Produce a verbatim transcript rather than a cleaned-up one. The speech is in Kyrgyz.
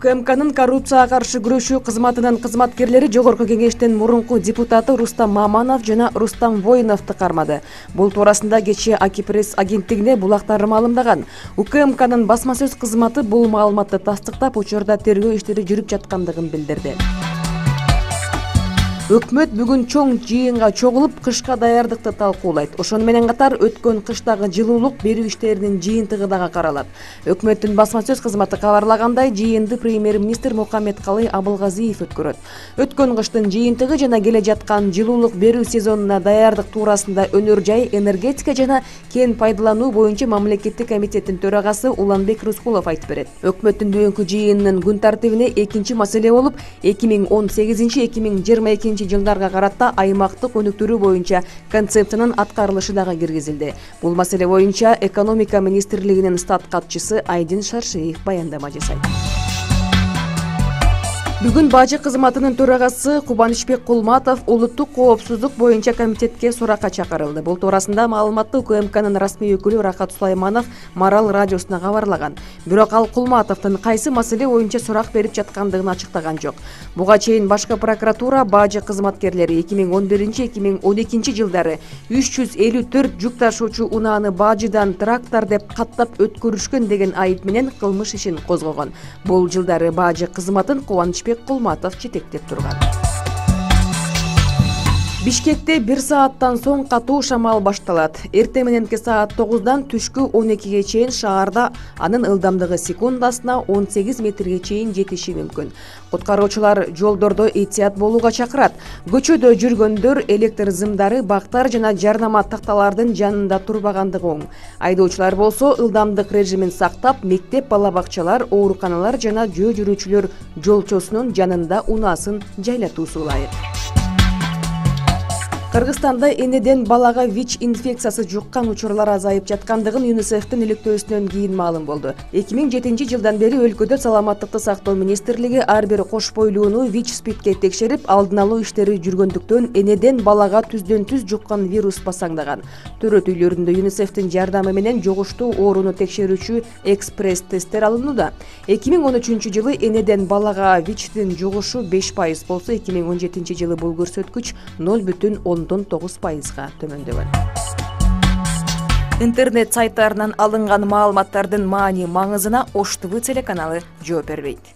УКМКнын коррупцияга каршы күрөшүү кызматынын кызматкерлери Жогорку кеңештин мурунку депутаты Рустам Маманов жана Рустам Воиновду кармады. Бул туурасында кечээ Аки пресс агенттигине булактар маалымдаган. УКМКнын басма сөз кызматы бул маалыматты тастыктап, учурда тергөө иштери жүрүп жаткандыгын билдирди. Өкмөт бүгүн чоң жыйынга чогулуп, кышка даярдыкты талкуулайт. Ошону менен катар өткөн кыштагы жылуулук берүү иштеринин жыйынтыгы дагы каралат. Өкмөттүн басма сөз кызматы кабарлагандай, жыйынды премьер-министр Мухаммедкалый Абылгазиев өткөрөт. Өткөн кыштын жыйынтыгы жана келе жаткан жылуулук берүү сезонуна даярдык туурасында Өнөр жай, энергетика жана кен пайдалануу боюнча мамлекеттик комитеттин төрагасы Уланбек Рыскулов айтып берет. Өкмөттүн бүгүнкү жыйынынын күн тартибине экинчи маселе болуп, эки миң он сегизинчи — эки миң жыйырма экинчи жылдарга карата аймактык өнүктүрүү боюнча концепциянын аткарылышы дагы киргизилди. Бул маселе боюнча экономика министрлигинин стат катчысы Айдин Шаршеев баяндама жасайт. Бүгүн бажы кызматынын төрагасы Кубанычбек Кулматов улуттук коопсуздук боюнча комитетке суракка чакырылды. Бул туурасында маалыматты УКМКнын расмий өкүлү Рахат Сулайманов Марал радиосуна кабарлаган. Бирок ал Кулматовдун кайсы маселе боюнча сурак берип жаткандыгын ачыктаган жок. Буга чейин башкы прокуратура бажы кызматкерлери эки миң он биринчи — эки миң он экинчи жылдары үч жүз элүү төрт жүк ташуучу унааны бажыдан трактор деп каттап өткөрүшкөн деген айып менен кылмыш ишин козгогон. Бул жылдары бажы кызматын Кубанычбек Кулматов жетектеп турган. Бишкекте бир сааттан соң катуу шамал башталат. Эртең мененки саат тогуздан түшкү он экиге чейин шаарда анын ылдамдыгы секундасына он сегиз метрге чейин жетиши мүмкүн. Куткаруучулар жолдордо эhtiyat болууга чакырат. Көчөдө жүргөндөр электр зымдары, бактар жана жарнама такталардын жанында турбагандыгы оң. Айдоочулар болсо ылдамдык режимин сактап, мектеп, бала бакчалар, ооруканалар жана жөө жүрүүчүлөр жолчосунун жанында унаасын жайлатуусу ылайык. Кыргызстанда энеден балага ВИЧ инфекциясы жуккан учурлар азайып жаткандыгын ЮНИСЕФтин иликтөөсүнөн кийин маалым болду. эки миң жетинчи жылдан бери өлкөдө саламаттыкты сактоо министрлиги ар бир кош бойлууну ВИЧ спидке текшерип, алдын алуу иштери жүргөндүктөн энеден балага түздөн түз жуккан вирус басаңдаган. Төрөт үйлөрүндө ЮНИСЕФтин жардамы менен жугуштуу ооруну текшерүүчү экспресс тесттер алынууда. эки миң он үчүнчү жылы энеден балага ВИЧтин жугушу беш пайыз болсо, эки миң он жетинчи жылы бул көрсөткүч ноль бүтүн ондон тогуз пайызга төмөндөгөн. Интернет сайттарынан алынган маалыматтардын маани маңызына Ош ТВ телеканалы жооп бербейт.